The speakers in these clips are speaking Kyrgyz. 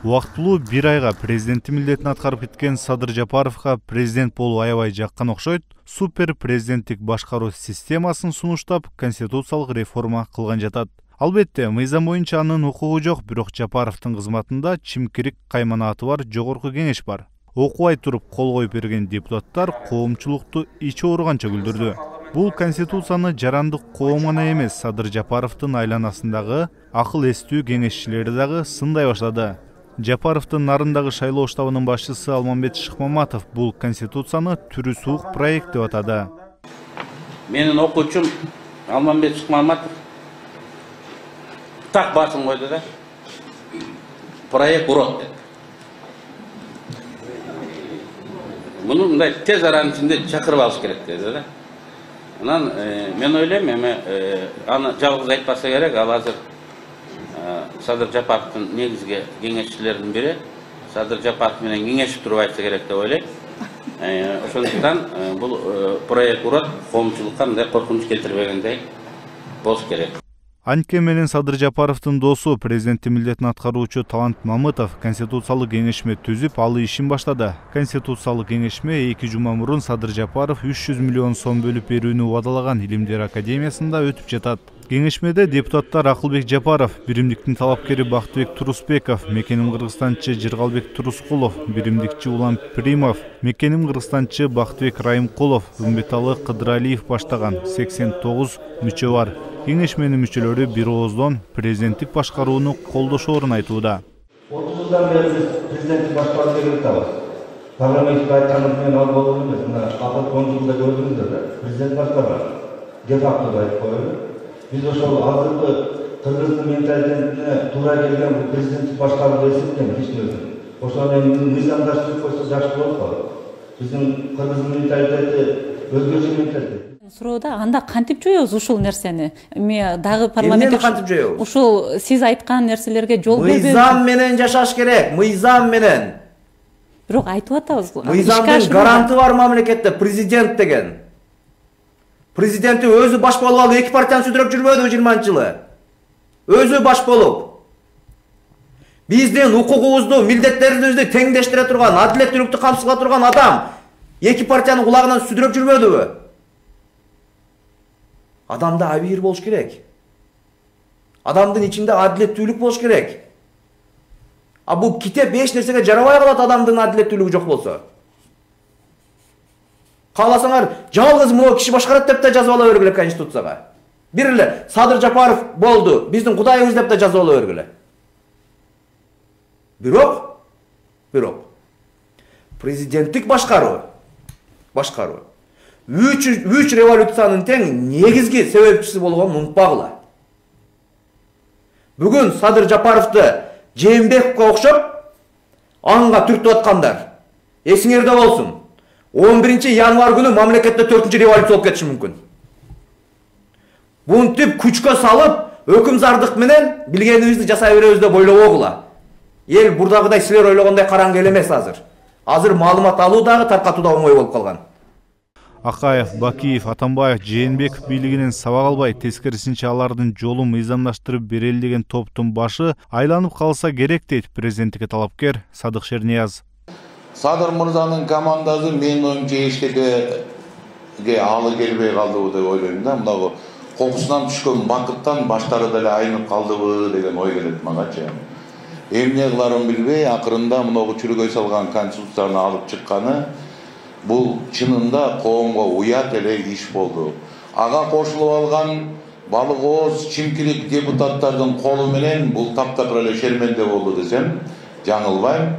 Убактылуу 1 айга президенттик милдетин аткарып кеткен Садыр Жапаровго президент болуу аябай жаккан окшойт. Супер президенттик башкаруу системасын сунуштап, конституциялык реформа кылган жатат. Албетте, мыйзам боюнча анын укугу жок, бирок Жапаровдун кызматында чимкирик кайманааты бар жогорку кеңеш бар. Окубай туруп кол коюп берген депутаттар коомчулукту ичи ооруганча күлдүрдү. Бул конституцияны жарандык коом гана эмес, Садыр Жапаровдун айланасындагы акыл эстүү кеңешчилери дагы сындай баштады. Жапаровдун нарындагы шайлоо штабынын башчысы Алмамбет Шыкмаматов бул конституцияны түрү суук проект деп атады. Менин окуучум Алмамбет Шыкмаматов так басын койду да. Проект урот деп. Муну мындай тез аранын ичинде чакырып алыш керек деди да. Анан мен ойлойм, аны жалгыз айтпаса керек, ал азыр Садыр Жапаровдун негизги кеңешчилеринин бири Садыр Жапаров менен кеңешип туруп айтса керек деп ойлойм. Ошондуктан бул проект урот коомчулукка мындай коркунуч келтирбегендей болуш керек. Анткени менен Садыр Жапаровдун досу президенттик милдетин аткаруучу Талант Мамытов конституциялык кеңешме түзүп, ал ишин баштады. Конституциялык кеңешме 2 жума мурун Садыр Жапаров 300 миллион сом бөлүп берүүнү убадалаган Илимдер академиясында өтүп жатат. Кеңешмеде депутаттар Акылбек Жапаров, биримдиктин талапкери Бактыбек Турусбеков, Мекеним Кыргызстанчы Жыргалбек Турускулов, биримдикчи Улан Примов, Мекеним Кыргызстанчы Бактыбек Райымкулов, Үмбеталы Кыдыралиев баштаган 89 мүчө бар. Кеңешменин мүчөлөрү бир ооздон президенттик башкарууну колдошоорун айтууда. 30 жылдан бери биз президенттик башкарууну керектабыз. Парламентте айткандан кийин ал болду эмес. Мына акыркы 10 жылда көрдүңүздөр да, президент башкарган. Де факто айтып коелу. Биз ошол азыркы кыргыздын менталитетине туура келген бул президенттик башкаруу эсептейм ичинен. Ошону мыйзамдаштырып койсо жакшы болот го. Биздин кыргыздын менталитети өзгөчө менталитет. Суроода анда кантип жоебуз ушул нерсени? Эми дагы парламентте кантип жоебуз? Ушул сиз айткан нерселерге жол бербей. Мыйзам менен жашаш керек, мыйзам менен. Бирок айтып атабыз. Мыйзамдын гаранты бар мамлекетте президент деген. Президенти өзү баш болуп алып 2 партияны сүдүрөп жүрбөдү 20-жылы. Өзү баш болуп. Биздин укугубузду, милдеттерибизди теңдештире турган, адилеттүүлүктү камсыздала турган адам 2 партиянын кулагынан сүдүрөп жүрбөдүбү? Адамда абийир болуш керек. Адамдын ичинде адилеттүүлүк болуш керек. А бул китеп эч нерсеге жарабай калат адамдын адилеттүүлүгү жок болсо. Кааласаңар жалгыз могу киши башкарат деп да жазып ала бергиле конституцияга. Бир эле Садыр Жапаров болду, биздин кудайыбыз деп да жазып ала бергиле. Бирок президенттик башкаруу 3 революциянын тең негизги себепчиси болгонун унутпагыла. Бүгүн Садыр Жапаровду Жээнбековго окшоп анга түртүп аткандар. Эсиңерде болсун. 11 январь күнү мамлекетте 4-чү революция болуп кетиши мүмкүн. Бунтип күчкө салып, өкүмзардык менен билгенибизди жасай беребиз деп ойлобогула. Эл бурдагыдай силер ойлогондой караңгы эл эмес азыр. Азыр маалымат алуу дагы таркатуу да оңой болуп калган. Акаев, Бакиев, Атамбаев, Жээнбеков бийлигинен сабак албай, тескерисинче алардын жолу мыйзамдаштырып берели деген топтун башы айланып калса керек дейт президенттикке талапкер Садык Шернияз. Садыр мырзанын командасы менин оюмча эчтеке алы келбей калдыбы деп ойлойм да. Мынагы кокусунан түшкөн бакыттан баштары деле айнып калдыбы деген ой келет магачы. Эмне кыларын билбей, акырында мынагы чүргөй салган конституцияны алып чыкканы бул чынында коомго уят эле иш болду. Ага кошулуп алган балык ооз чимкирик депутаттардын колу менен бул таптакыр эле шерменде болду десем жаңылбайм.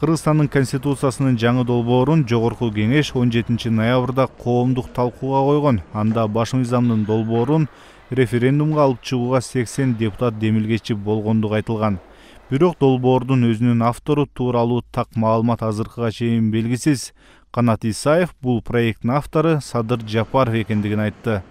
Кыргызстандын конституциясынын жаңы долбоорун жогорку кеңеш 17 ноябрда коомдук талкууга койгон. Анда баш мыйзамдын долбоорун референдумга алып чыгууга 80 депутат демилгечи болгондугу айтылган. Бирок долбоордун өзүнүн автору тууралуу так маалымат азыркыга чейин белгисиз. Канат Исаев бул проекттин автору Садыр Жапаров экендигин айтты.